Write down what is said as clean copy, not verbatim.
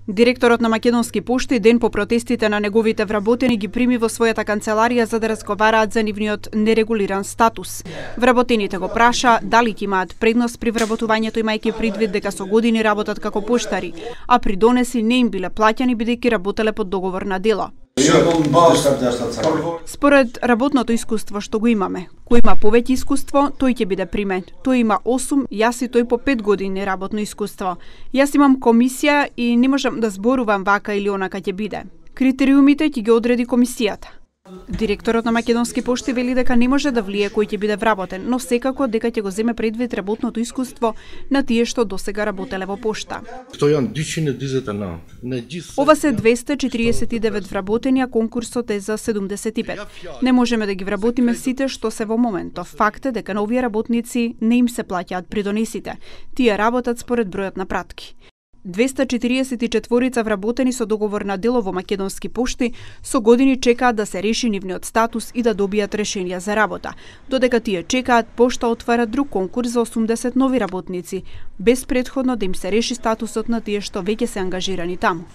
Директорот на Македонски пошти ден по протестите на неговите вработени ги прими во својата канцеларија за да разговараат за нивниот нерегулиран статус. Вработените го праша дали ќе имаат предност при вработувањето имајќи предвид дека со години работат како поштари, а при донеси не им биле плаќани бидејќи работеле под договор на дело. Според работното искуство што го имаме, кој има повеќе искуство, тој ќе биде примен. Тој има 8, јас и тој по 5 години работно искуство. Јас имам комисија и не можам да зборувам вака или онака ќе биде. Критериумите ќе ги одреди комисијата. Директорот на Македонски пошти вели дека не може да влие кој ќе биде вработен, но секако дека ќе го земе предвид работното искуство на тие што досега работеле во пошта. Ова се 249 вработени, а конкурсот е за 75. Не можеме да ги вработиме сите што се во моментов. Факт е дека на овие работници не им се плаќаат придонесите. Тие работат според бројот на пратки. 244 вработени со договор на дело во Македонски пошти со години чекаат да се реши нивниот статус и да добијат решенија за работа. Додека тие чекаат, пошта отвара друг конкурс за 80 нови работници, без претходно да им се реши статусот на тие што веќе се ангажирани таму.